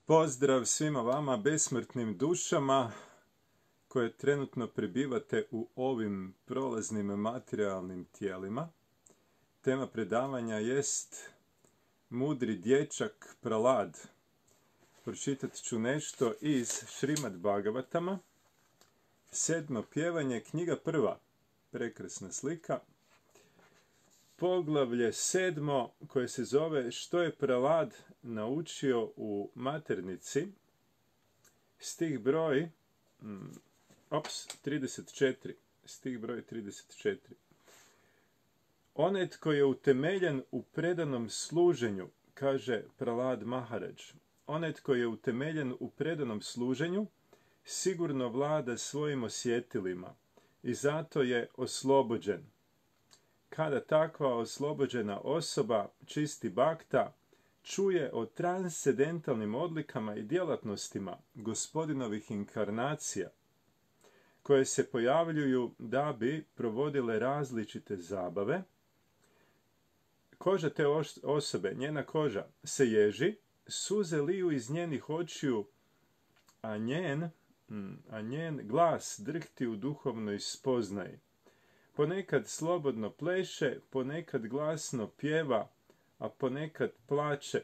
Pozdrav svima vama besmrtnim dušama koje trenutno prebivate u ovim prolaznim materijalnim tijelima. Tema predavanja jest Mudri dječak Pralad. Pročitat ću nešto iz Šrimad Bhagavatama. 7. pjevanje, knjiga 1. Prekrasna slika. Poglavlje 7. koje se zove Što je Pralad naučio u maternici. Stih broj 34. Stih broj 34. Onaj tko je utemeljen u predanom služenju, kaže Pralad Maharadž, onaj tko je utemeljen u predanom služenju, sigurno vlada svojim osjetilima i zato je oslobođen. Kada takva oslobođena osoba, čisti bhakta, čuje o transcendentalnim odlikama i djelatnostima gospodinovih inkarnacija, koje se pojavljuju da bi provodile različite zabave, koža te osobe, njena koža, se ježi, suze liju iz njenih očiju, a njen glas drhti u duhovnoj spoznaji. Ponekad slobodno pleše, ponekad glasno pjeva, a ponekad plače.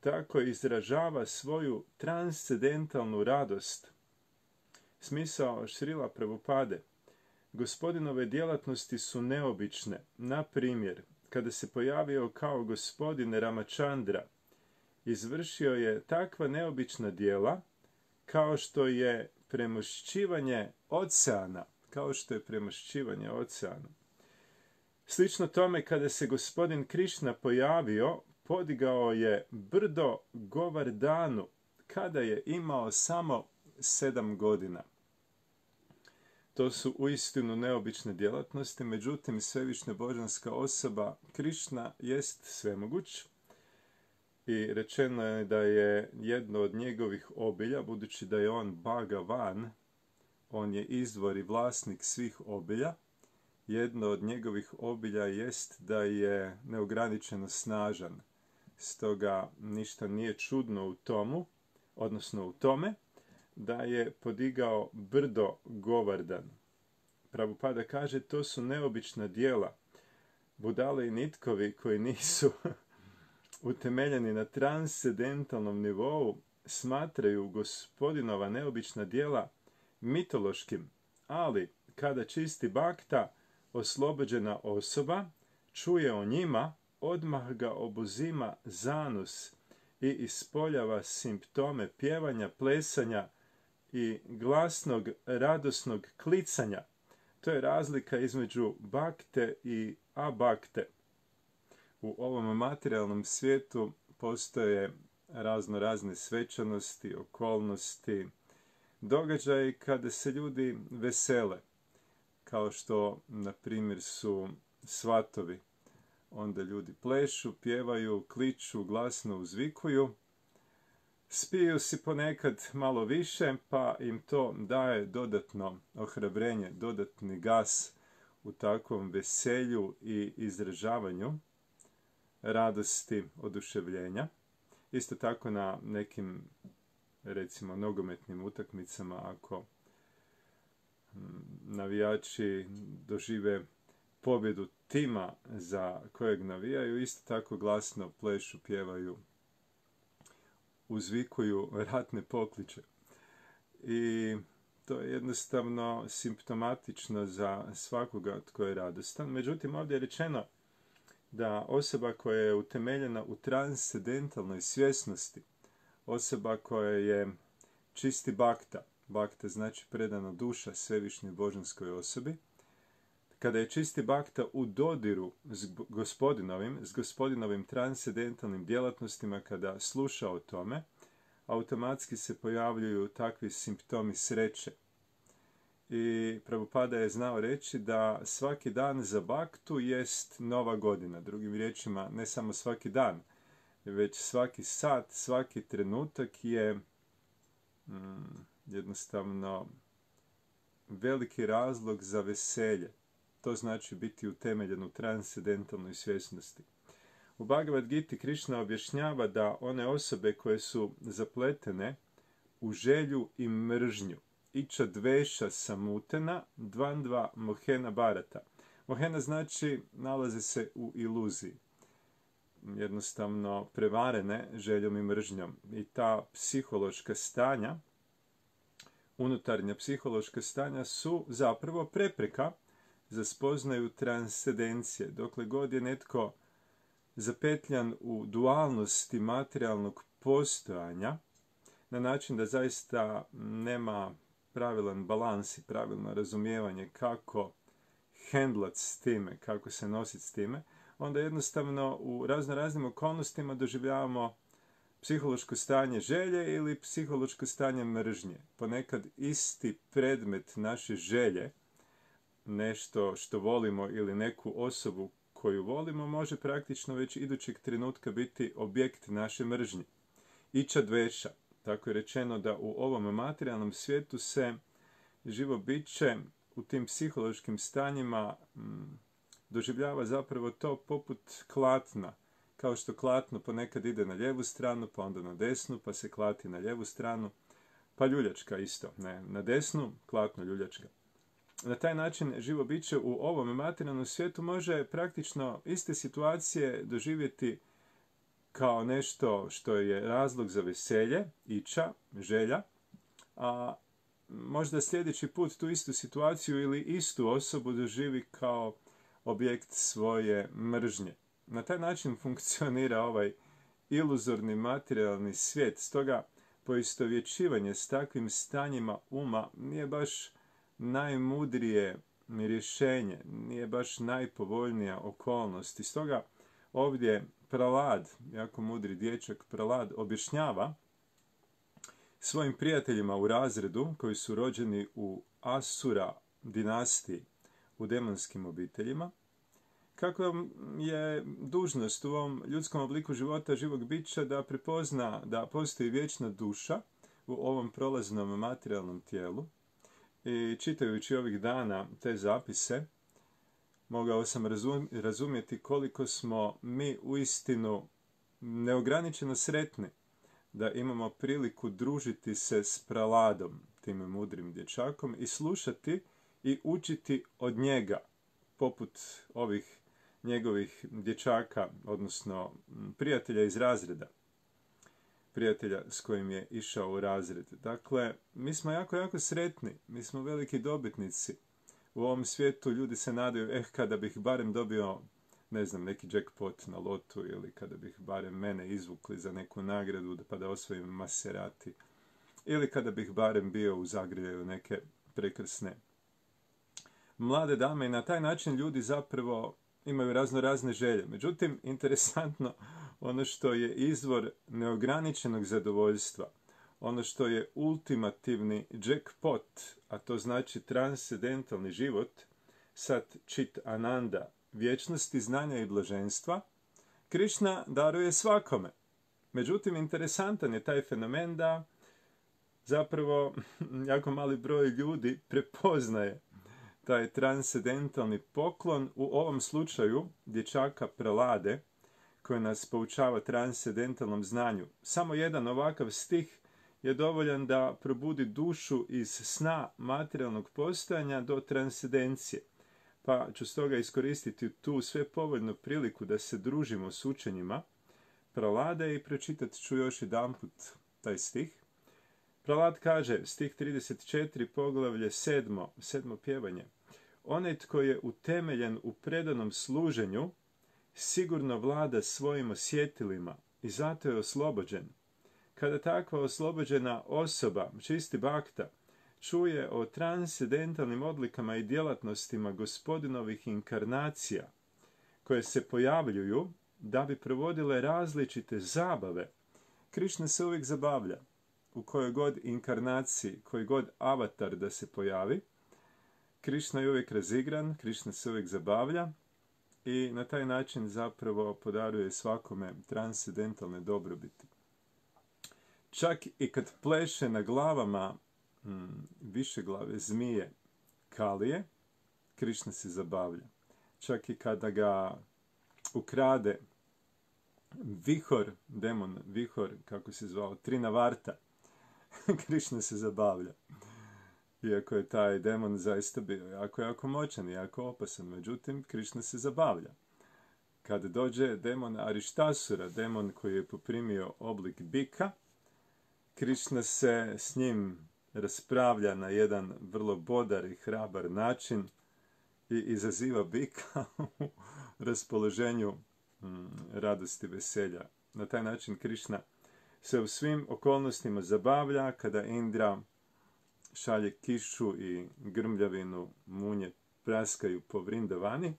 Tako izražava svoju transcendentalnu radost. Smisao Šrila Prabhupade. Gospodinove djelatnosti su neobične. Na primjer, kada se pojavio kao gospodin Ramachandra, izvršio je takva neobična djela kao što je premošćivanje oceana. Slično tome, kada se gospodin Krišna pojavio, podigao je brdo Govardhanu kada je imao samo 7 godina. To su uistinu neobične djelatnosti, međutim svevišnja božanska osoba Krišna jest svemoguć i rečeno je da je jedno od njegovih obilja, budući da je on Bhagavan, on je izvor i vlasnik svih obilja. Jedno od njegovih obilja jest da je neograničeno snažan. Stoga ništa nije čudno u tome da je podigao brdo Govardhan. Prabhupada kaže, to su neobična djela. Budale i nitkovi koji nisu utemeljeni na transcendentalnom nivou smatraju gospodinova neobična djela mitološkim, ali kada čisti bhakta, oslobođena osoba, čuje o njima, odmah ga obuzima zanus i ispoljava simptome pjevanja, plesanja i glasnog, radosnog klicanja. To je razlika između bhakte i abhakte. U ovom materijalnom svijetu postoje razne svečanosti, okolnosti, događaji kada se ljudi vesele, kao što, na primjer, su svatovi. Onda ljudi plešu, pjevaju, kliču, glasno uzvikuju, spiju si ponekad malo više, pa im to daje dodatno ohrabrenje, dodatni gas u takvom veselju i izražavanju radosti, oduševljenja. Isto tako na nekim, recimo, nogometnim utakmicama, ako navijači dožive pobjedu tima za kojeg navijaju, isto tako glasno plešu, pjevaju, uzvikuju ratne pokliče. I to je jednostavno simptomatično za svakoga tko je radostan. Međutim, ovdje je rečeno da osoba koja je utemeljena u transcendentalnoj svjesnosti, osoba koja je čisti bhakta, bhakta znači predana duša svevišnjoj božanskoj osobi, kada je čisti bhakta u dodiru s gospodinovim transcendentalnim djelatnostima, kada sluša o tome, automatski se pojavljuju takvi simptomi sreće. I Prabhupada je znao reći da svaki dan za bhaktu jest nova godina. Drugim riječima, ne samo svaki dan, već svaki sat, svaki trenutak je jednostavno veliki razlog za veselje. To znači biti utemeljen u transcendentalnoj svjesnosti. U Bhagavad Giti Krišna objašnjava da one osobe koje su zapletene u želju i mržnju, iča dveša samutena, dvandva mohena barata. Mohena znači nalaze se u iluziji, jednostavno prevarene željom i mržnjom. I ta psihološka stanja, unutarnja psihološka stanja su zapravo prepreka za spoznaju transcendencije. Dokle god je netko zapetljan u dualnosti materijalnog postojanja, na način da zaista nema pravilan balans i pravilno razumijevanje kako hendlat s time, kako se nositi s time, onda jednostavno u raznim okolnostima doživljavamo psihološko stanje želje ili psihološko stanje mržnje. Ponekad isti predmet naše želje, nešto što volimo ili neku osobu koju volimo, može praktično već idućeg trenutka biti objekt naše mržnje. Iča dveša. Tako je rečeno da u ovom materijalnom svijetu se živo biće u tim psihološkim stanjima doživljava zapravo to poput klatna. Kao što klatno ponekad ide na lijevu stranu, pa onda na desnu, pa se klati na lijevu stranu, pa ljuljačka isto. Ne, na desnu, klatno, ljuljačka. Na taj način živo biće u ovom materijalnom svijetu može praktično iste situacije doživjeti kao nešto što je razlog za veselje, iča, želja, a možda sljedeći put tu istu situaciju ili istu osobu doživi kao objekt svoje mržnje. Na taj način funkcionira ovaj iluzorni materijalni svijet. Stoga poistovjećivanje s takvim stanjima uma nije baš najmudrije rješenje, nije baš najpovoljnija okolnost. I stoga ovdje Pralad, jako mudri dječak Pralad, objašnjava svojim prijateljima u razredu koji su rođeni u Asura dinastiji, u demonskim obiteljima, kako je dužnost u ovom ljudskom obliku života živog bića da prepozna da postoji vječna duša u ovom prolaznom materijalnom tijelu. I čitajući ovih dana te zapise, mogao sam razumjeti koliko smo mi uistinu neograničeno sretni da imamo priliku družiti se s Praladom, tim mudrim dječakom, i slušati i učiti od njega, poput ovih njegovih dječaka, odnosno prijatelja iz razreda, prijatelja s kojim je išao u razred. Dakle, mi smo jako sretni, mi smo veliki dobitnici. U ovom svijetu ljudi se nadaju, kada bih barem dobio, ne znam, neki jackpot na lotu, ili kada bih barem mene izvukli za neku nagradu pa da osvojim Maserati, ili kada bih barem bio u zagrljaju neke prekrasne mlade dame. I na taj način ljudi zapravo imaju razne želje. Međutim, interesantno, ono što je izvor neograničenog zadovoljstva, ono što je ultimativni jackpot, a to znači transcendentalni život, sat čit ananda, vječnosti znanja i blaženstva, Krišna daruje svakome. Međutim, interesantan je taj fenomen da zapravo jako mali broj ljudi prepoznaje taj transcendentalni poklon, u ovom slučaju dječaka Pralade, koji nas poučava transcendentalnom znanju. Samo jedan ovakav stih je dovoljan da probudi dušu iz sna materijalnog postojanja do transcendencije. Pa ću stoga iskoristiti tu sve povoljnu priliku da se družimo s učenjima Pralade i pročitat ću još jedanput taj stih. Pralad kaže, stih 34, poglavlje 7. pjevanje. Onaj tko je utemeljen u predanom služenju, sigurno vlada svojim osjetilima i zato je oslobođen. Kada takva oslobođena osoba, čisti bhakta, čuje o transcendentalnim odlikama i djelatnostima gospodinovih inkarnacija, koje se pojavljuju da bi provodile različite zabave, Krišna se uvijek zabavlja. U kojoj god inkarnaciji, koji god avatar da se pojavi, Krišna je uvijek razigran, Krišna se uvijek zabavlja i na taj način zapravo podaruje svakome transcendentalne dobrobiti. Čak i kad pleše na glavama više glave zmije Kalije, Krišna se zabavlja. Čak i kada ga ukrade Vihor, demon Vihor, kako se zvao, Trinavarta, Krišna se zabavlja. Iako je taj demon zaista bio jako moćan i jako opasan, međutim, Krišna se zabavlja. Kad dođe demon Arištasura, demon koji je poprimio oblik bika, Krišna se s njim raspravlja na jedan vrlo bodar i hrabar način i izaziva bika u raspoloženju radosti, veselja. Na taj način Krišna se u svim okolnostima zabavlja kada Indra šalje kišu i grmljavinu, munje praskaju po Vrindavani.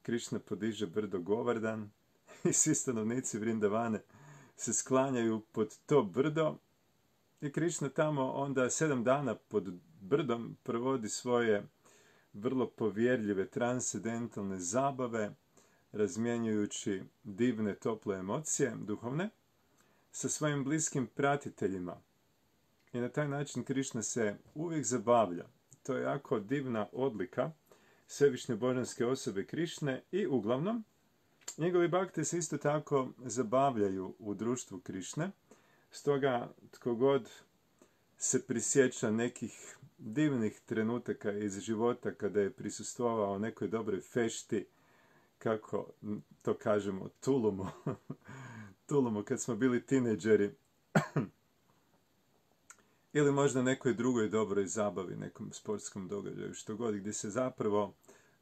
Krišna podiže brdo Govardan i svi stanovnici Vrindavane se sklanjaju pod to brdo i Krišna tamo onda 7 dana pod brdom provodi svoje vrlo povjerljive transcendentalne zabave, razmjenjujući divne, tople emocije, duhovne, sa svojim bliskim pratiteljima. I na taj način Krišna se uvijek zabavlja. To je jako divna odlika svevišnje božanske osobe Krišne i uglavnom njegovi bakte se isto tako zabavljaju u društvu Krišne. Stoga tko god se prisjeća nekih divnih trenutaka iz života kada je prisustvovao nekoj dobroj fešti, kako to kažemo, tulumu kad smo bili tineđeri, ili možda nekoj drugoj dobroj zabavi, nekom sportskom događaju, što god, gdje se zapravo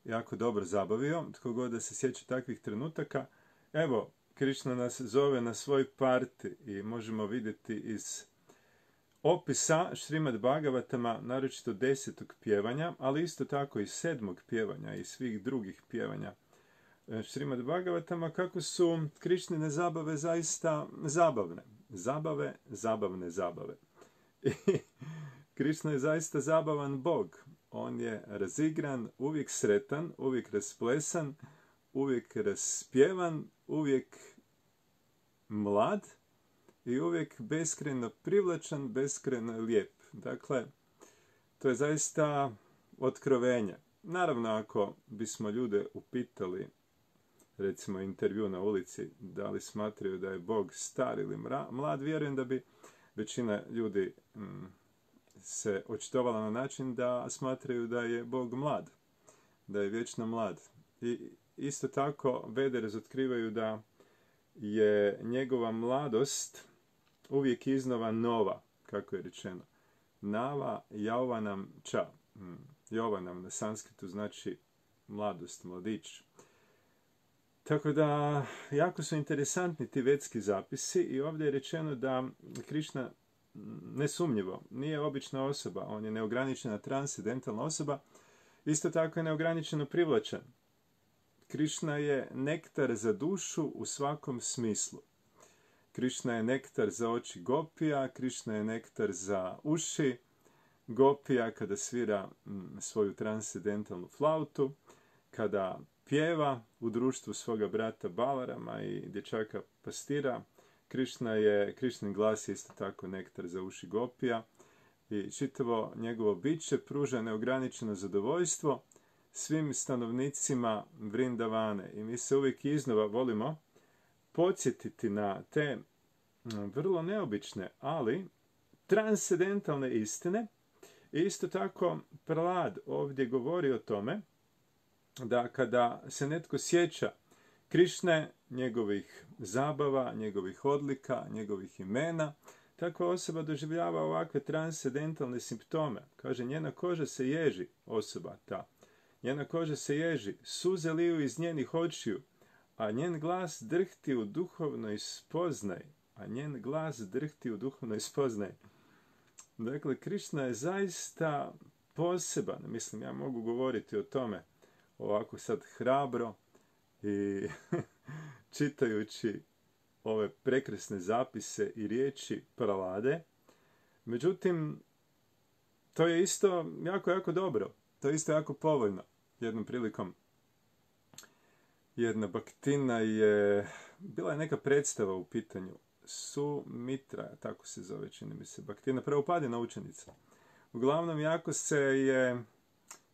jako dobro zabavio, tko god da se sjeća takvih trenutaka. Evo, Krišna nas zove na svoj parti i možemo vidjeti iz opisa Šrimad Bhagavatama, naročito 10. pjevanja, ali isto tako i 7. pjevanja i svih drugih pjevanja Šrimad Bhagavatama, kako su Krišnine zabave zaista zabavne. Zabave. I Krišna je zaista zabavan Bog. On je razigran, uvijek sretan, uvijek rasplesan, uvijek raspjevan, uvijek mlad i uvijek beskrajno privlačan, beskrajno lijep. Dakle, to je zaista otkrovenje. Naravno, ako bismo ljude upitali, recimo intervju na ulici, da li smatraju da je Bog star ili mlad, vjerujem da bi većina ljudi se očitovala na način da smatraju da je Bog mlad, da je vječno mlad. I isto tako Vede razotkrivaju da je njegova mladost uvijek iznova nova, kako je rečeno. Nava Jauvanam ča. Jauvanam na sanskritu znači mladost, mladić. Tako da, jako su interesantni ti vedski zapisi i ovdje je rečeno da Krišna nesumnjivo nije obična osoba, on je neograničena transcendentalna osoba, isto tako je neograničeno privlačan. Krišna je nektar za dušu u svakom smislu. Krišna je nektar za oči gopija, Krišna je nektar za uši gopija kada svira svoju transcendentalnu flautu, kada pjeva u društvu svoga brata Balarama i dječaka pastira. Krišnin glas je isto tako nektar za uši gopija i čitavo njegovo biće pruža neograničeno zadovoljstvo svim stanovnicima Vrindavane. I mi se uvijek iznova volimo podsjetiti na te vrlo neobične, ali transcendentalne istine. I isto tako Prahlad ovdje govori o tome da kada se netko sjeća Krišne, njegovih zabava, njegovih odlika, njegovih imena, takva osoba doživljava ovakve transcendentalne simptome. Kaže, njena koža se ježi, osoba ta. Njena koža se ježi, suze liju iz njenih očiju, a njen glas drhti u duhovnoj spoznaji. Dakle, Krišna je zaista poseban. Mislim, ja mogu govoriti o tome ovako sad hrabro i čitajući ove prekrasne zapise i riječi Prahlade. Međutim, to je isto jako dobro. To je isto jako povoljno. Jednom prilikom jedna baktina bila je neka predstava u pitanju. Sumitra, tako se zove, čini mi se, baktina, Prabhupadina učenica. Uglavnom,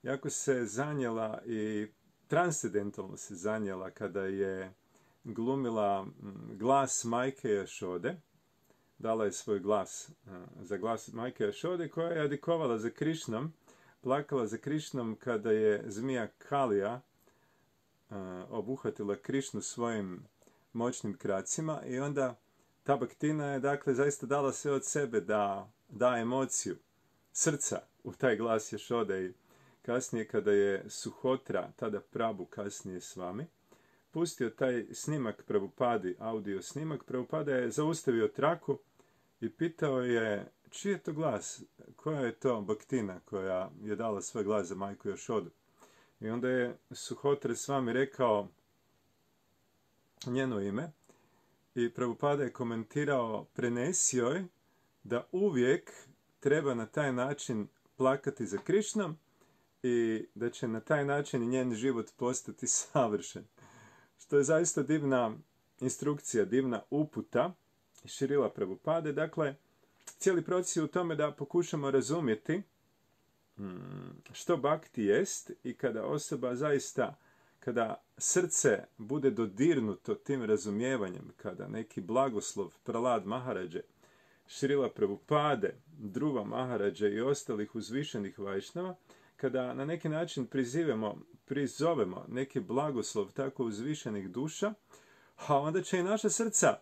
jako se zanijela i transcendentalno se zanijela kada je glumila glas majke Jašode, dala je svoj glas za glas majke Jašode, koja je adikovala za Krišnom, plakala za Krišnom kada je zmija Kalija obuhvatila Krišnu svojim moćnim kracima i onda ta baktina je dakle zaista dala sve od sebe da da emociju srca u taj glas Jašode i kasnije kada je Suhotra, tada Prabhu kasnije s vami, pustio taj snimak Prabhupadi, audio snimak, Prabhupada je zaustavio traku i pitao je čiji je to glas, koja je to baktina koja je dala svoj glas za majku Jašodu. I onda je Suhotra s vami rekao njeno ime i Prabhupada je komentirao, prenesi joj da uvijek treba na taj način plakati za Krišnom i da će na taj način njen život postati savršen. Što je zaista divna instrukcija, divna uputa Šrila Prabhupade. Dakle, cijeli proces je u tome da pokušamo razumjeti što bhakti jest i kada osoba zaista, kada srce bude dodirnuto tim razumijevanjem, kada neki blagoslov Prahlad Maharadže, Šrila Prabhupade, Dhruva Maharadže i ostalih uzvišenih vajšnava, kada na neki način prizovemo neki blagoslov tako uzvišenih duša, a onda će i naša srca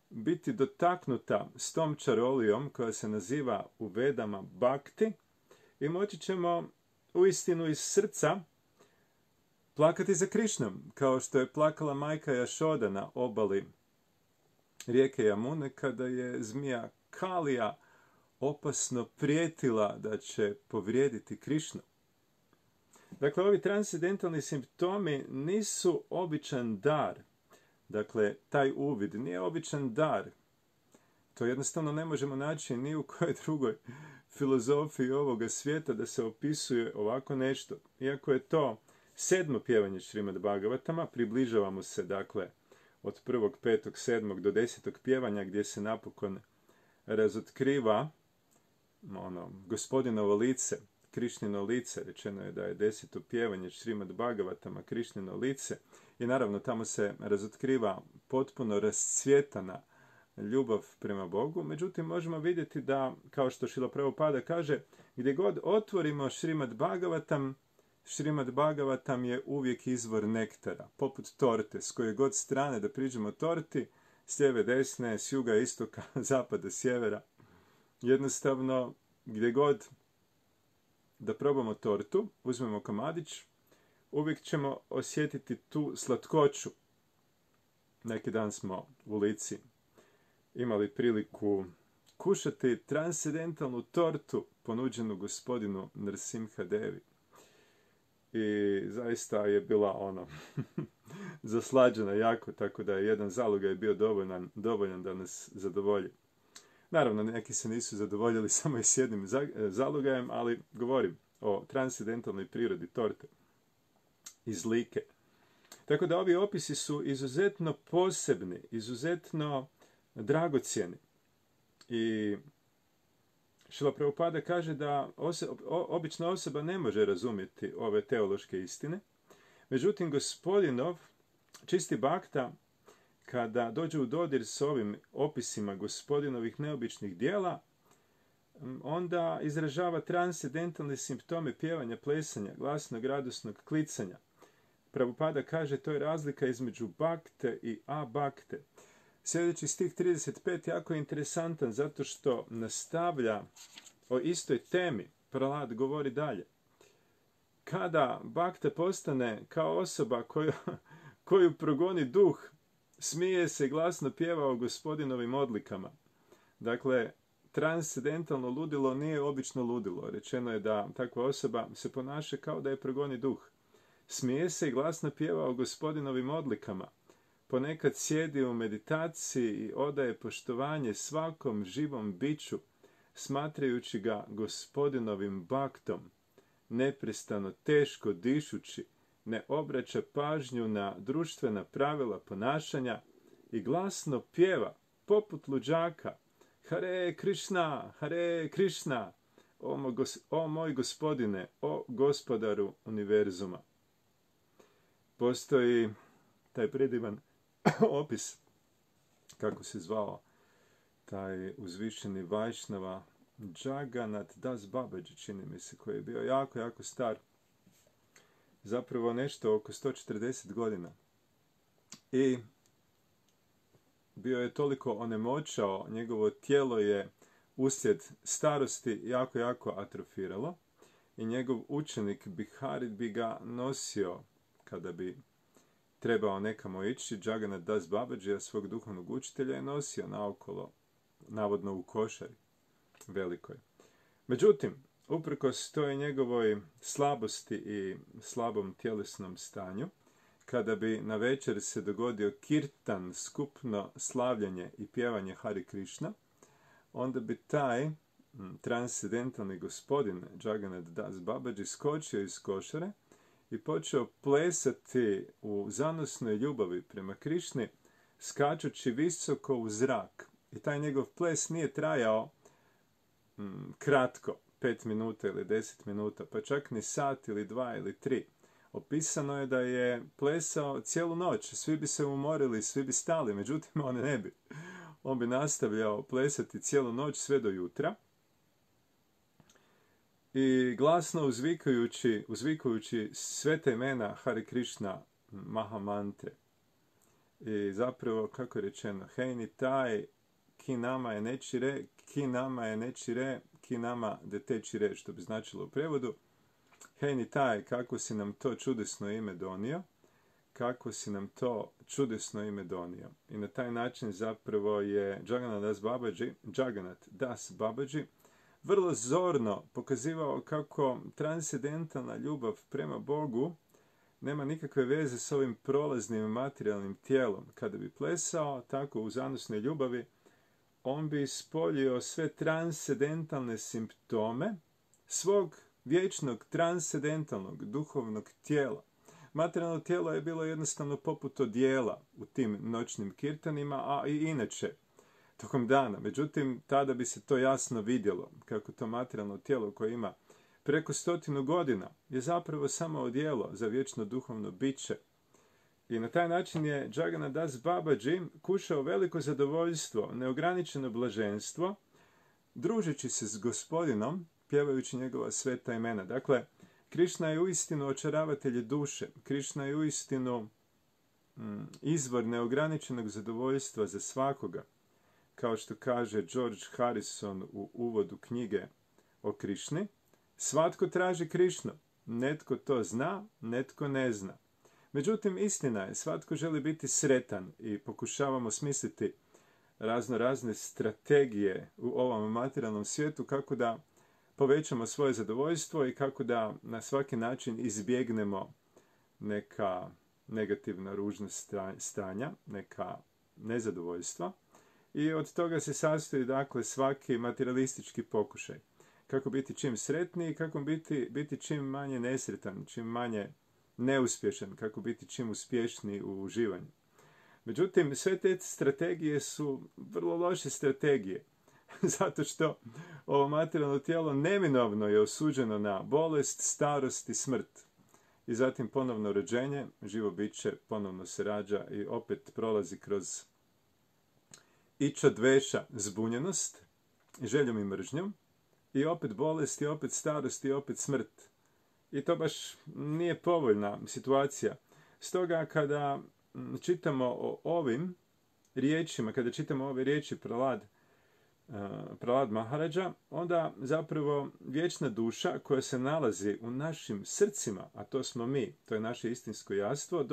biti dotaknuta s tom čarolijom koja se naziva u Vedama Bhakti i moći ćemo uistinu iz srca plakati za Krišnom, kao što je plakala majka Jašoda na obali rijeke Jamune kada je zmija Kalija opasno prijetila da će povrijediti Krišnu. Dakle, ovi transcendentalni simptomi nisu običan dar. Dakle, taj uvid nije običan dar. To jednostavno ne možemo naći ni u kojoj drugoj filozofiji ovoga svijeta da se opisuje ovako nešto. Iako je to 7. pjevanje Šrimad Bhagavatama, približavamo se, dakle, od 1.5.7. do 10. pjevanja gdje se napokon razotkriva gospodinovo lice, Krišnino lice. Rečeno je da je 10. pjevanje Šrimad Bhagavatama Krišnino lice i naravno tamo se razotkriva potpuno rascvjetana ljubav prema Bogu. Međutim, možemo vidjeti da, kao što Šrila Prabhupada kaže, gdje god otvorimo Šrimad Bhagavatam, Šrimad Bhagavatam je uvijek izvor nektara, poput torte, s koje god strane da priđemo torti, s lijeve, desne, s juga, istoka, zapada, sjevera. Jednostavno, gdje god da probamo tortu, uzmemo komadić, uvijek ćemo osjetiti tu slatkoću. Neki dan smo u Lici imali priliku kušati transcendentalnu tortu ponuđenu gospodinu Nrsimha Devi. I zaista je bila zaslađena jako, tako da je jedan zalogaj bio dovoljan da nas zadovolji. Naravno, neki se nisu zadovoljili samo i s jednim zalogajem, ali govorim o transcendentalnoj prirodi torte iz Like. Tako da ovi opisi su izuzetno posebni, izuzetno dragocjeni. I Šrila Prabhupada kaže da obična osoba ne može razumjeti ove teološke istine. Međutim, gospodinov čisti bhakta, kada dođe u dodir s ovim opisima gospodinovih neobičnih dijela, onda izražava transcendentalne simptome pjevanja, plesanja, glasnog, radosnog klicanja. Prabhupada kaže, to je razlika između bhakte i abhakte. Sljedeći stih 35 jako je interesantan zato što nastavlja o istoj temi. Prahlad govori dalje. Kada bhakta postane kao osoba koju progoni duh, smije se i glasno pjeva o gospodinovim odlikama. Dakle, transcendentalno ludilo nije obično ludilo. Rečeno je da takva osoba se ponaša kao da je progoni duh. Smije se i glasno pjeva o gospodinovim odlikama. Ponekad sjedi u meditaciji i odaje poštovanje svakom živom biću, smatrajući ga gospodinovim bhaktom, neprestano teško dišući, ne obraća pažnju na društvena pravila ponašanja i glasno pjeva, poput luđaka, Hare Krishna, Hare Krishna, o moj gospodine, o gospodaru univerzuma. Postoji taj predivan opis kako se zvao taj uzvišeni Vajšnava Jagannath Das Babaji, čini mi se, koji je bio jako, jako star. Zapravo nešto oko 140 godina. I bio je toliko onemoćao, njegovo tijelo je uslijed starosti jako, jako atrofiralo i njegov učenik Biharit bi ga nosio kada bi trebao nekamo ići. Jagannath Das Babaji, svog duhovnog učitelja, je nosio naokolo, navodno u košari velikoj. Međutim, uprkos toj njegovoj slabosti i slabom tjelesnom stanju, kada bi na večer se dogodio kirtan, skupno slavljanje i pjevanje Hare Krishna, onda bi taj transcendentalni gospodin Jagannath Das Babaji skočio iz košare i počeo plesati u zanosnoj ljubavi prema Krišni, skačući visoko u zrak. I taj njegov ples nije trajao kratko, 5 minuta ili 10 minuta, pa čak ni sat ili 2 ili 3. Opisano je da je plesao cijelu noć, svi bi se umorili, svi bi stali, međutim on ne bi. On bi nastavljao plesati cijelu noć sve do jutra i glasno uzvikujući sve te imena Hare Krishna Mahamantre. I zapravo, kako je rečeno, hej ni taj, ki nama je nečire, ki nama je nečire, ki nama de tečire, što bi značilo u prevodu. Hej ni taj, kako si nam to čudesno ime donio, kako si nam to čudesno ime donio. I na taj način zapravo je Jagannath Das Babaji vrlo zorno pokazivao kako transcendentalna ljubav prema Bogu nema nikakve veze s ovim prolaznim materijalnim tijelom. Kada bi plesao tako u zanosnoj ljubavi, on bi ispoljio sve transcendentalne simptome svog vječnog transcendentalnog duhovnog tijela. Materijalno tijelo je bilo jednostavno poput odijela u tim noćnim kirtanima, a i inače tokom dana. Međutim, tada bi se to jasno vidjelo, kako to materijalno tijelo koje ima preko 100 godina je zapravo samo odijelo za vječno duhovno biće. I na taj način je Jagannath Das Babaji kušao veliko zadovoljstvo, neograničeno blaženstvo, družeći se s gospodinom, pjevajući njegova sveta imena. Dakle, Krišna je uistinu očaravatelj duše. Krišna je uistinu izvor neograničenog zadovoljstva za svakoga. Kao što kaže George Harrison u uvodu knjige o Krišni, svatko traži Krišnu. Netko to zna, netko ne zna. Međutim, istina je, svatko želi biti sretan i pokušavamo smisliti razne strategije u ovom materijalnom svijetu kako da povećamo svoje zadovoljstvo i kako da na svaki način izbjegnemo neka negativna ružna stanja, neka nezadovoljstva. I od toga se sastoji dakle svaki materialistički pokušaj. Kako biti čim sretniji i kako biti čim manje nesretan, čim manje neuspješan, kako biti čim uspješniji u uživanju. Međutim, sve te strategije su vrlo loše strategije. Zato što ovo materijalno tijelo neminovno je osuđeno na bolest, starost i smrt. I zatim ponovno rođenje, živo biće ponovno se rađa i opet prolazi kroz iča dveša, zbunjenost, željom i mržnjom, i opet bolest, i opet starost, i opet smrt. I to baš nije povoljna situacija. Stoga kada čitamo o ovim riječima, kada čitamo ove riječi Prahlad Maharaja, onda zapravo vječna duša koja se nalazi u našim srcima, a to smo mi, to je naše istinsko jastvo,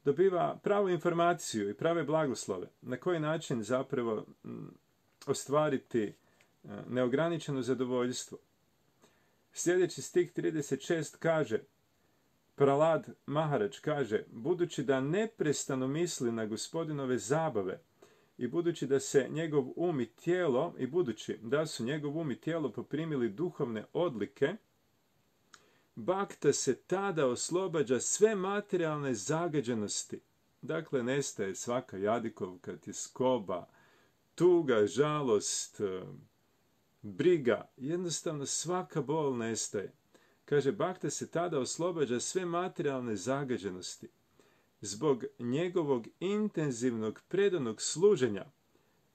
dobiva pravu informaciju i prave blagoslove. Na koji način zapravo ostvariti neograničeno zadovoljstvo. Sljedeći stih 36 kaže, Prahlad Maharaj kaže, budući da neprestano misli na gospodinove zabave i budući da se njegov um i tijelo, i budući da su njegov um i tijelo poprimili duhovne odlike, Bhakta se tada oslobađa sve materijalne zagađenosti. Dakle, nestaje svaka jadikovka, tjeskoba, tuga, žalost, briga. Jednostavno svaka bol nestaje. Kaže, Bhakta se tada oslobađa sve materijalne zagađenosti. zbog njegovog intenzivnog predanog služenja,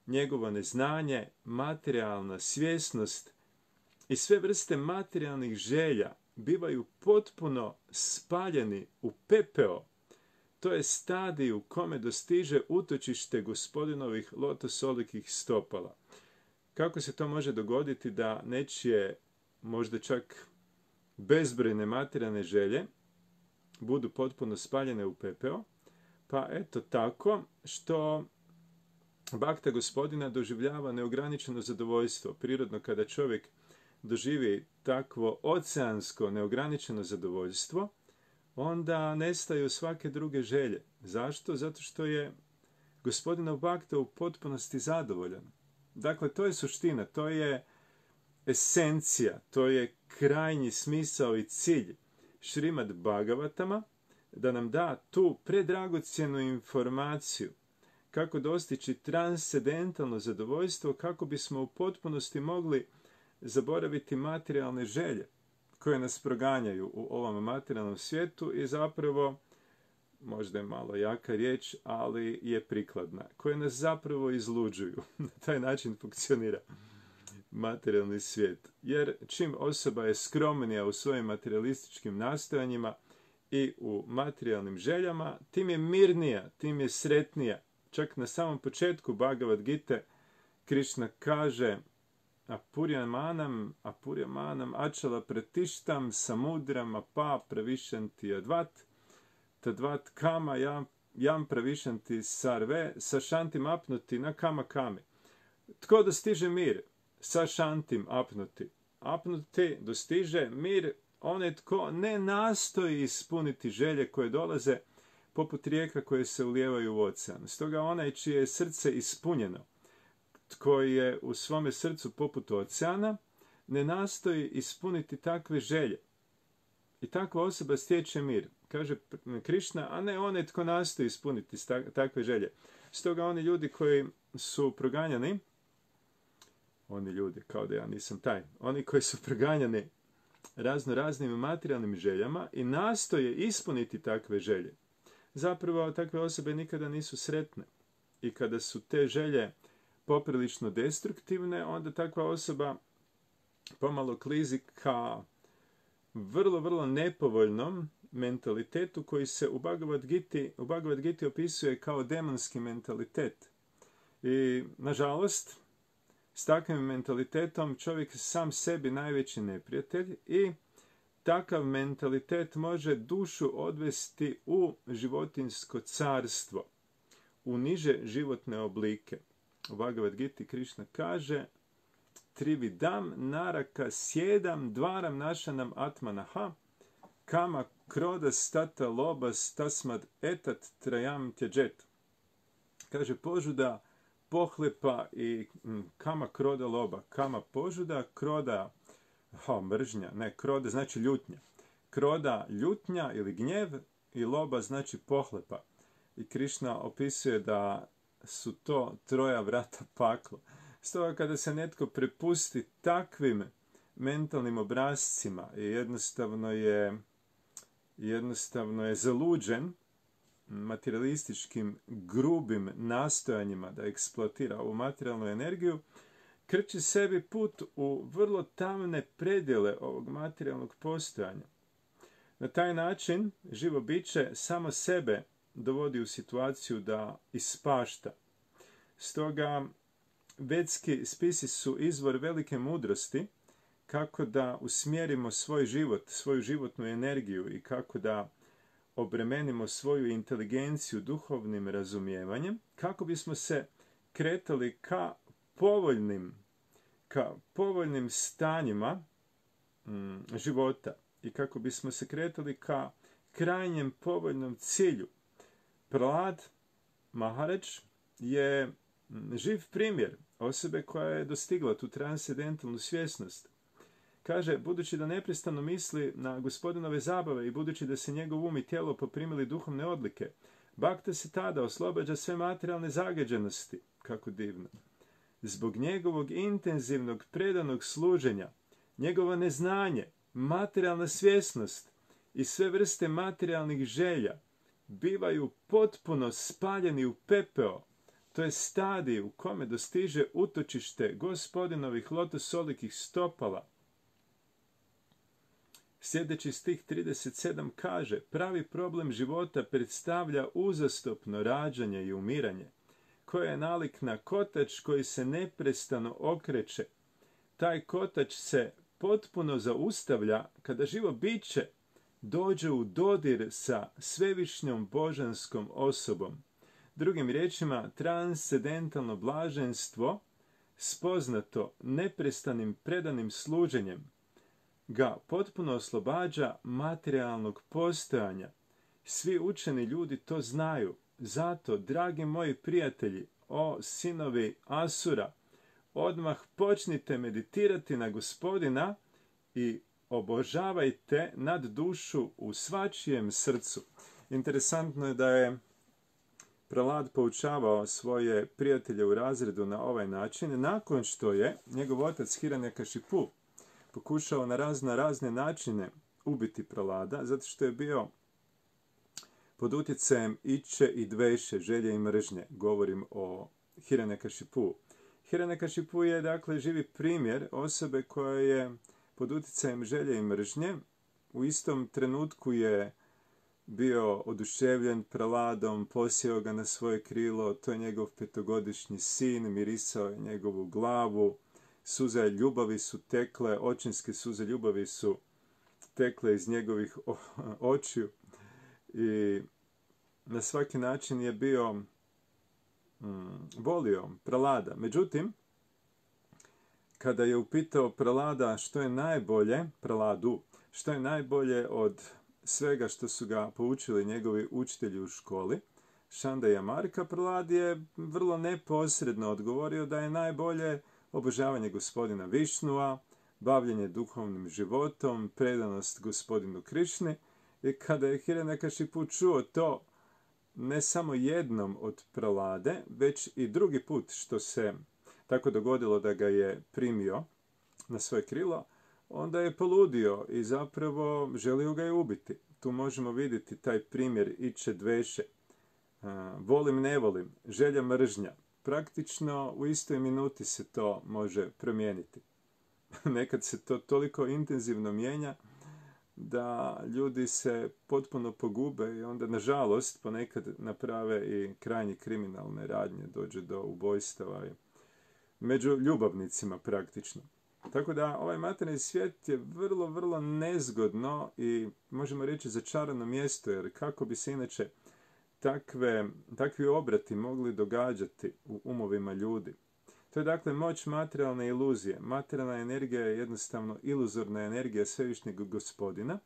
njegovo neznanje, materijalna svjesnost i sve vrste materijalnih želja bivaju potpuno spaljeni u pepeo. To je stadij u kome dostiže utočište Gospodinovih lotosolikih stopala. Kako se to može dogoditi da nečije, možda čak bezbrojne materijalne želje, budu potpuno spaljene u pepeo? Pa eto tako što bakta Gospodina doživljava neograničeno zadovoljstvo. Prirodno kada čovjek doživi takvo oceansko neograničeno zadovoljstvo, onda nestaju svake druge želje. Zašto? Zato što je Gospodinov bakta u potpunosti zadovoljan. Dakle, to je suština, to je esencija, to je krajnji smisao i cilj Šrimad Bhagavatama, da nam da tu predragocjenu informaciju kako dostići transcendentalno zadovoljstvo, kako bismo u potpunosti mogli zaboraviti materijalne želje koje nas proganjaju u ovom materijalnom svijetu i zapravo, možda je malo jaka riječ, ali je prikladna, koje nas zapravo izluđuju. Na taj način funkcionira materijalni svijet. Jer čim osoba je skromnija u svojim materialističkim nastojanjima i u materijalnim željama, tim je mirnija, tim je sretnija. Čak na samom početku Bhagavad Gite Krishna kaže Apuryamanam achala pratištam samudram apa pravišanti advat tadvat kama jam pravišanti sarve sašantim apnuti na kama kami. Tko dostiže mir? Sašantim apnuti. Apnuti dostiže mir onaj tko ne nastoji ispuniti želje koje dolaze poput rijeka koje se ulijevaju u ocean. Stoga onaj čije je srce ispunjeno, tko je u svome srcu poput oceana, ne nastoji ispuniti takve želje. I takva osoba stječe mir. Kaže Krišna, a ne onaj tko nastoji ispuniti takve želje. Stoga oni ljudi koji su proganjani, oni ljudi, kao da ja nisam taj, oni koji su proganjani raznim materijalnim željama i nastoje ispuniti takve želje, zapravo takve osobe nikada nisu sretne. I kada su te želje poprilično destruktivne, onda takva osoba pomalo klizi ka vrlo nepovoljnom mentalitetu koji se u Bhagavad Giti opisuje kao demonski mentalitet. I, nažalost, s takvim mentalitetom čovjek sam sebi najveći neprijatelj i takav mentalitet može dušu odvesti u životinjsko carstvo, u niže životne oblike. U Bhagavad Giti Krishna kaže Trividam naraka sjedam dvaram našanam atmanaha kama kroda stata lobas tasmad etat trajam tjeđet. Kaže požuda, pohlepa i kama kroda loba. Kama požuda, kroda mržnja, ne, kroda znači ljutnja. Kroda ljutnja ili gnjev i loba znači pohlepa. I Krišna opisuje da su to troja vrata pakla. Stoga kada se netko prepusti takvim mentalnim obrascima i jednostavno je zaluđen materialističkim grubim nastojanjima da eksploatira ovu materijalnu energiju, krči sebi put u vrlo tamne predjele ovog materijalnog postojanja. Na taj način živo biće samo sebe dovodi u situaciju da ispašta. Stoga vedski spisi su izvor velike mudrosti kako da usmjerimo svoj život, svoju životnu energiju i kako da obremenimo svoju inteligenciju duhovnim razumijevanjem, kako bismo se kretali ka povoljnim stanjima života i kako bismo se kretali ka krajnjem povoljnom cilju. Prahlad Maharaj je živ primjer osobe koja je dostigla tu transcendentalnu svjesnost. Kaže, budući da neprestano misli na Gospodinove zabave i budući da se njegov um i tijelo poprimili duhovne odlike, Bhakta se tada oslobađa sve materijalne zagađenosti. Kako divno. Zbog njegovog intenzivnog predanog služenja, njegovo neznanje, materijalna svjesnost i sve vrste materijalnih želja bivaju potpuno spaljeni u pepeo. To je stadij u kome dostiže utočište Gospodinovih lotosolikih stopala. Sljedeći stih 37 kaže: pravi problem života predstavlja uzastopno rađanje i umiranje, koje je nalik na kotač koji se neprestano okreće. Taj kotač se potpuno zaustavlja kada živo biće dođe u dodir sa svevišnjom božanskom osobom. Drugim riječima, transcendentalno blaženstvo, spoznato neprestanim predanim služenjem, ga potpuno oslobađa materijalnog postojanja. Svi učeni ljudi to znaju. Zato, dragi moji prijatelji, o sinovi Asura, odmah počnite meditirati na Gospodina i obožavajte nad dušu u svačijem srcu. Interesantno je da je Pralad poučavao svoje prijatelje u razredu na ovaj način, nakon što je njegov otac Hiranyakashipu pokušao na razne načine ubiti Pralada, zato što je bio pod utjecajem iče i dveše, želje i mržnje. Govorim o Hiranyakashipu. Hiranyakashipu je, dakle, živi primjer osobe koja je pod utjecajem želje i mržnje. U istom trenutku je bio oduševljen Praladom, posjeo ga na svoje krilo, to je njegov 5-godišnji sin, mirisao je njegovu glavu, suze ljubavi su tekle, očinske suze ljubavi su tekle iz njegovih očiju i na svaki način je bio volio Pralada. Međutim, kada je upitao Pralada što je najbolje, Praladu, što je najbolje od svega što su ga poučili njegovi učitelji u školi, Šanda i Amarka, Pralad je vrlo neposredno odgovorio da je najbolje obožavanje Gospodina Višnua, bavljenje duhovnim životom, predanost Gospodinu Krišni. I kada je Hiranyakashipu čuo to ne samo jednom od Pralade, već i drugi put što se tako dogodilo da ga je primio na svoje krilo, onda je poludio i zapravo želio ga je ubiti. Tu možemo vidjeti taj primjer iče dveše. Volim, ne volim, želja, mržnja. Praktično u istoj minuti se to može promijeniti. Nekad se to toliko intenzivno mijenja da ljudi se potpuno pogube i onda, nažalost, ponekad naprave i krajnje kriminalne radnje, dođe do ubojstava i među ljubavnicima praktično. Tako da ovaj materijalni svijet je vrlo nezgodno i možemo reći začarano mjesto, jer kako bi se inače takvi obrati mogli događati u umovima ljudi. To je dakle moć materijalne iluzije. Materijalna energija je jednostavno iluzorna energija svevišnjeg Gospodina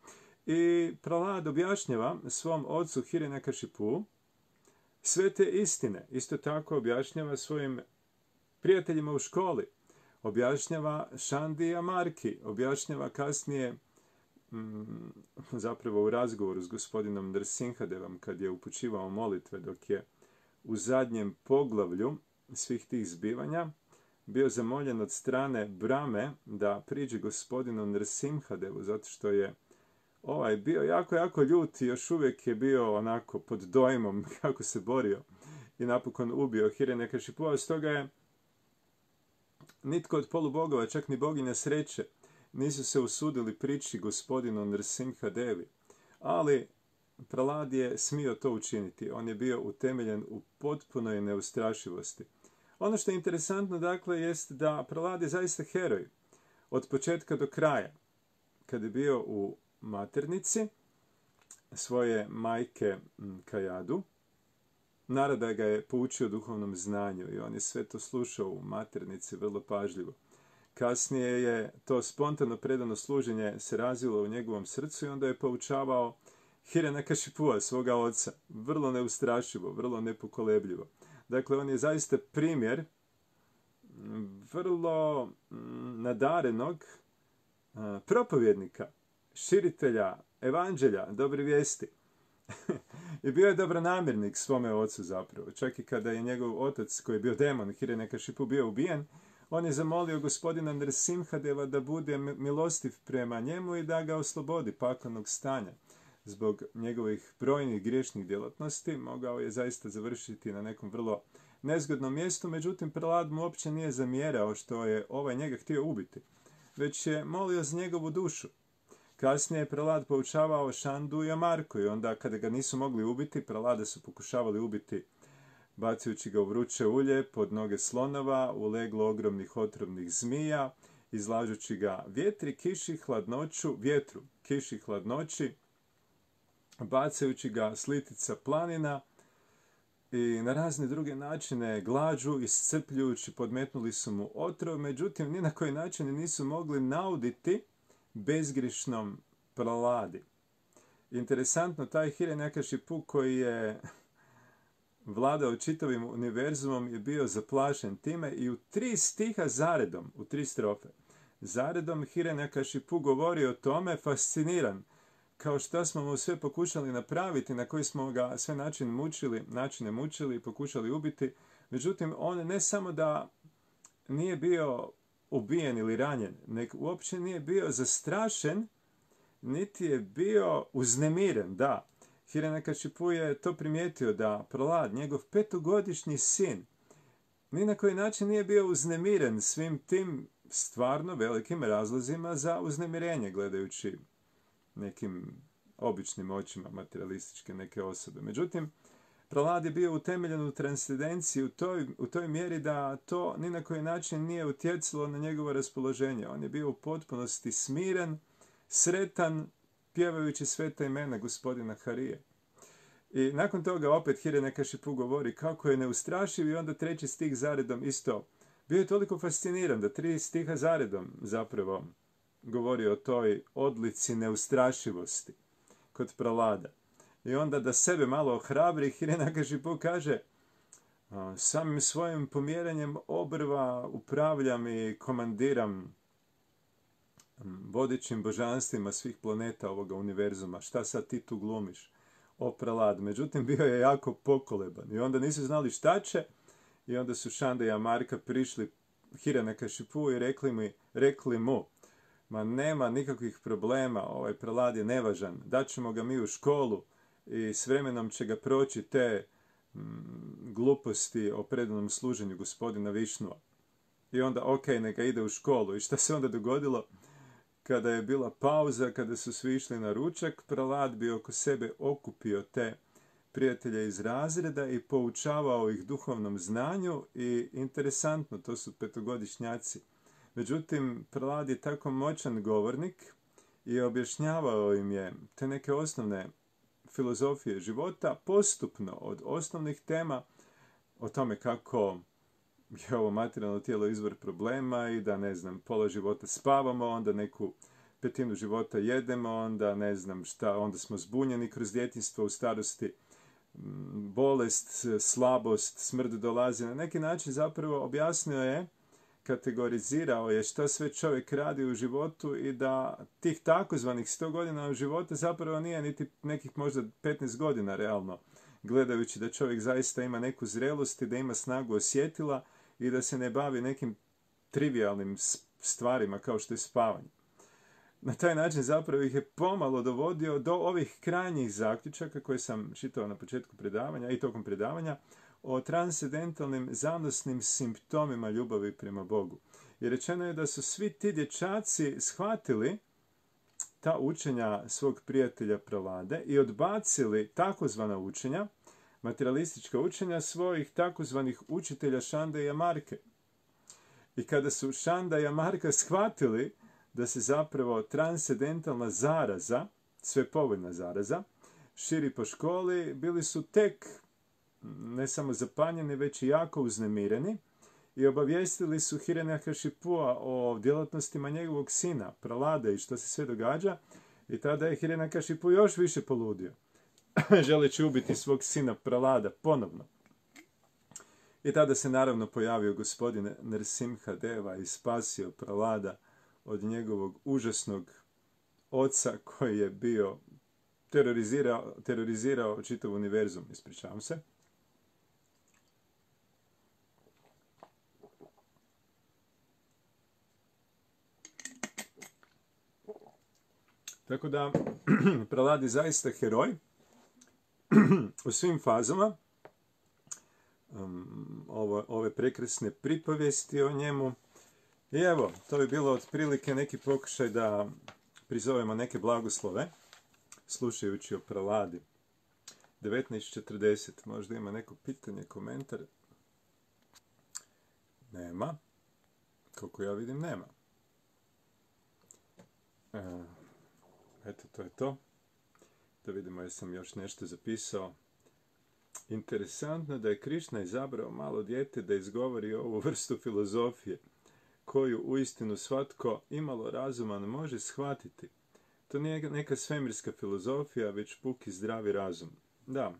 i Pralad objašnjava svom ocu Hiranyakashipu sve te istine. Isto tako objašnjava svojim prijateljima u školi, objašnjava Šandi i Amarki, objašnjava kasnije zapravo u razgovoru s gospodinom Nrsimhadevom kad je upućivao molitve dok je u zadnjem poglavlju svih tih zbivanja bio zamoljen od strane Brame da priđe gospodinu Nrsimhadevu, zato što je bio jako ljut i još uvijek je bio onako pod dojmom kako se borio i napokon ubio Hiranyakashipua. Stoga je nitko od polubogova, čak ni boginja sreće, nisu se usudili prići gospodinu Nrsimhadevi. Ali Pralad je smio to učiniti. On je bio utemeljen u potpunoj neustrašivosti. Ono što je interesantno, dakle, jest da Pralad je zaista heroj. Od početka do kraja. Kad je bio u maternici svoje majke Kajadu, Narada ga je poučio duhovnom znanju i on je sve to slušao u maternici vrlo pažljivo. Kasnije je to spontano predano služenje se razvilo u njegovom srcu i onda je poučavao Hiranyakashipua, svoga oca, vrlo neustrašivo, vrlo nepokolebljivo. Dakle, on je zaista primjer vrlo nadarenog propovjednika, širitelja evanđelja, dobre vijesti. I bio je dobronamjernik svome ocu zapravo. Čak i kada je njegov otac, koji je bio demon, Hiranyakashipu, bio ubijen, on je zamolio gospodina Nrsimhadeva da bude milostiv prema njemu i da ga oslobodi paklenog stanja. zbog njegovih brojnih griješnih djelatnosti, mogao je zaista završiti na nekom vrlo nezgodnom mjestu, međutim Prelad mu uopće nije zamjerao što je njega htio ubiti, već je molio za njegovu dušu. Kasnije je Prelad poučavao Šandu i Amarku i onda kada ga nisu mogli ubiti, Prelada su pokušavali ubiti bacajući ga u vruće ulje, pod noge slonova, u leglo ogromnih otrovnih zmija, izlažući ga vjetru, kiši, hladnoći, bacajući ga s litica planina i na razne druge načine glađu, iscrpljujući, podmetnuli su mu otrov, međutim ni na koji način nisu mogli nauditi bezgrišnom Preladi. Interesantno, taj Hiranyakashipu koji je vladao čitavim univerzumom je bio zaplašen time i u 3 stiha zaredom, u 3 strofe, zaredom Hiranyakashipu govori o tome, fasciniran, kao što smo mu sve pokušali napraviti, na koji smo ga sve načine mučili i pokušali ubiti. Međutim, on ne samo da nije bio ubijen ili ranjen, nego uopće nije bio zastrašen, niti je bio uznemiren, da. Hiranyakashipu je to primijetio da Prelad, njegov 5-godišnji sin, ni na koji način nije bio uznemiren svim tim stvarno velikim razlozima za uznemirenje, gledajući nekim običnim očima materialističke neke osobe. Međutim, Prelad je bio utemeljen u transcendenciji u toj mjeri da to ni na koji način nije utjecalo na njegovo raspoloženje. On je bio u potpunosti smiren, sretan, pjevajući sveta imena gospodina Harije. I nakon toga opet Hiranyakashipu govori kako je neustrašiv i onda 3. stih zaredom isto. Bio je toliko fasciniran da 3 stiha zaredom zapravo govori o toj odlici neustrašivosti kod Prelada. I onda da sebe malo ohrabri, Hiranyakashipu kaže: samim svojim pomjeranjem obrva upravljam i komandiram vodećim božanstvima svih planeta ovoga univerzuma. Šta sad ti tu glumiš, o Prelad? Međutim, bio je jako pokoleban i onda nisu znali šta će i onda su Šanda i Amarka prišli Hiranyakashipu i rekli mu: ma nema nikakvih problema, ovaj Prelad je nevažan, daćemo ga mi u školu i s vremenom će ga proći te gluposti o predanom služenju gospodina Višnua. I onda, neka ide u školu. I šta se onda dogodilo? Kada je bila pauza, kada su svi išli na ručak, Prelad bi oko sebe okupio te prijatelje iz razreda i poučavao ih duhovnom znanju i interesantno, to su 5-godišnjaci. Međutim, Prelad je tako moćan govornik i objašnjavao im je te neke osnovne filozofije života postupno od osnovnih tema o tome kako je ovo materijalno tijelo izvor problema i da, pola života spavamo, onda neku 1/5 života jedemo, onda onda smo zbunjeni kroz djetinjstvo, u starosti bolest, slabost, smrt dolazi. Na neki način zapravo objasnio je, kategorizirao je šta sve čovjek radi u životu i da tih takozvanih 100 godina u životu zapravo nije niti nekih možda 15 godina realno, gledajući da čovjek zaista ima neku zrelost i da ima snagu osjetila i da se ne bavi nekim trivialnim stvarima kao što je spavanje. Na taj način zapravo ih je pomalo dovodio do ovih krajnjih zaključaka koje sam čitao na početku predavanja i tokom predavanja o transcendentalnim zanosnim simptomima ljubavi prema Bogu. I rečeno je da su svi ti dječaci shvatili ta učenja svog prijatelja Prelade i odbacili takozvana učenja, materialistička učenja svojih takozvanih učitelja Šande i Amarke. I kada su Šanda i Amarka shvatili da se zapravo transcendentalna zaraza, svepovoljna zaraza, širi po školi, bili su tek ne samo zapanjeni, već i jako uznemireni i obavijestili su Hiranyakashipua o djelatnostima njegovog sina, Prelade, i što se sve događa. I tada je Hiranyakashipu još više poludio, želeći ubiti svog sina Prelada ponovno. I tada se naravno pojavio gospodin Nrsimha Deva i spasio Prelada od njegovog užasnog oca koji je bio terorizirao čitav univerzum, ispričavam se. Tako da, Pralad je zaista heroj u svim fazama. Ove prekrasne pripovijesti o njemu. I evo, to bi bilo otprilike neki pokušaj da prizovemo neke blagoslove, slušajući o Praladi. 19:40, možda ima neko pitanje, komentar? Nema. Koliko ja vidim, nema. Eto, to je to. Da vidimo jesam još nešto zapisao. Interesantno da je Krišna izabrao malo dijete da izgovori ovu vrstu filozofije, koju uistinu svatko imalo razuman može shvatiti. To nije neka svemirska filozofija, već puki zdravi razum. Da,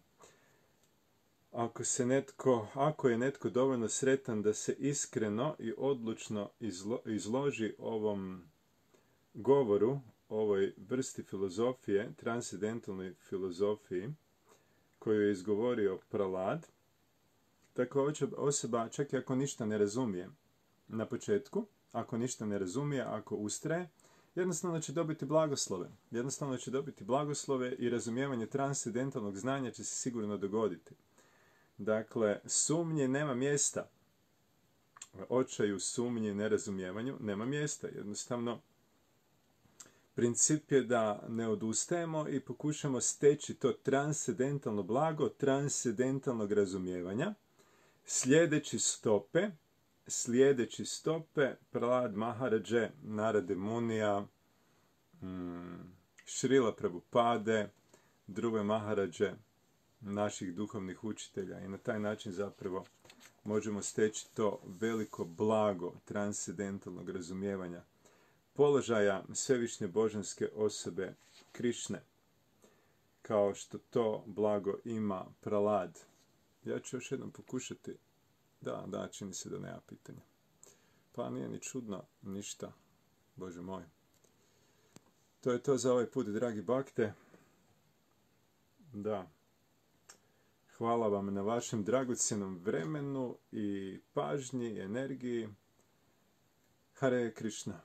ako je netko dovoljno sretan da se iskreno i odlučno izloži ovom govoru, ovoj vrsti filozofije, transcendentalnoj filozofiji, koju je izgovorio Pralad, takva osoba, čak i ako ništa ne razumije na početku, ako ništa ne razumije, ako ustraje, jednostavno će dobiti blagoslove. Jednostavno će dobiti blagoslove i razumijevanje transcendentalnog znanja će se sigurno dogoditi. Dakle, sumnje nema mjesta. Očaju, sumnji, nerazumijevanju nema mjesta. Jednostavno, princip je da ne odustajemo i pokušamo steći to transcendentalno blago, transcendentalnog razumijevanja, slijedeći stope Pralad Maharadže, Narade Munija, Šrila Prabhupade, Dhruve Maharadže, naših duhovnih učitelja. I na taj način zapravo možemo steći to veliko blago transcendentalnog razumijevanja položaja svevišnje božanske osobe Krišne, kao što to blago ima Pralad. Ja ću još jednom pokušati. Da, čini se da nema pitanja. Pa nije ni čudno, ništa. Bože moj. To je to za ovaj put, dragi bakte. Da. Hvala vam na vašem dragocjenom vremenu i pažnji i energiji. Hare Krishna.